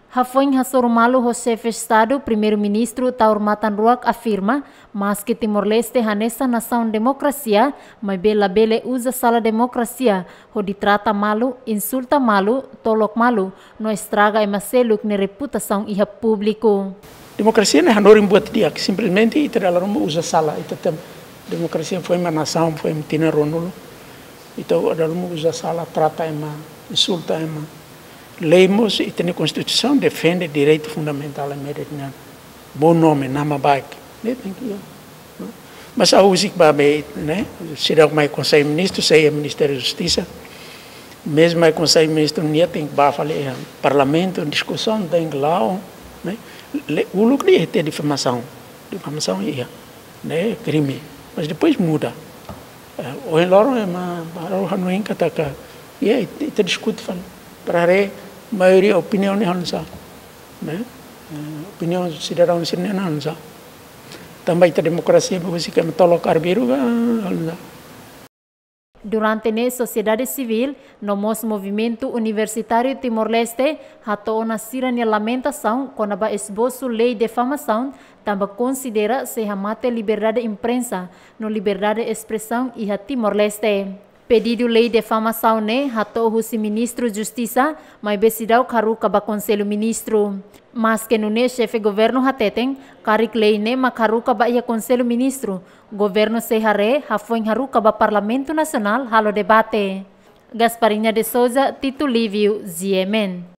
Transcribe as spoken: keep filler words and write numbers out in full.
Hafoin hasoru malu ho Xefe Estadu, Primeiru-Ministru Taur Matan Ruak afirma, maske Timor-Leste hanesan nasaun demokrasia, maibé labele uza sala demokrasia hodi trata malu, insulta malu, tolok malu, no estraga ema seluk nia reputasaun iha públiku. Demokrasia ne'e hanorin buat di'ak, simplesmente ita dala ruma uza sala, ita tem demokrasia foin mak nasaun, foin mak tinan ruanulu, ita dala ruma uza sala, trata ema, insulta ema. Lei mós, ita-nia Konstituisaun defende direitu fundamentál ema ida-ne'e. Bom nome, nama baik. Ne'e tenke iha. Mas ha'u husik ba be, ne'e? Seidauk mai Konsellu Ministru, sei iha Ministériu Justisa. Mezmu mai Konsellu Ministru nia tenke ba fali iha Parlamentu, diskusaun tenke la'o, ne'e? Uluk de'it iha difamasaun. Difamasaun iha, ne'e? Krime. Mas depois muda. Eh, ohin loron ema balu hanoin katak, ya, ita, ita diskute fali. Para haree maioria opiniaun ne'e hanesan, ne'e? Eh, opiniaun sidadaun sira-ne'e hanesan. Tanba ita demokrasia, ba husik ema tolok arbiru ka, hanesan. Durante ne'e sosiedade sivíl no mós Movimentu Universitáriu Timor-Leste hato'o ona sira-nia lamentasaun kona-ba esbosu lei difamasaun, tanba konsidera sei hamate liberdade imprensa no liberdade espresaun iha Timor-Leste. Pedidu lei difamasaun ne'e hato'o husi Ministru Justisa, maibé seidauk haruka ba Konsellu Ministru. Maske nune'e Xefe Governu hateten, karik lei ne'e mak haruka ba iha Konsellu Ministru, Governu sei haree hafoin haruka ba Parlamentu Nasionál halo debate. Gasparinha de Souza, Tito Lívio, G M N.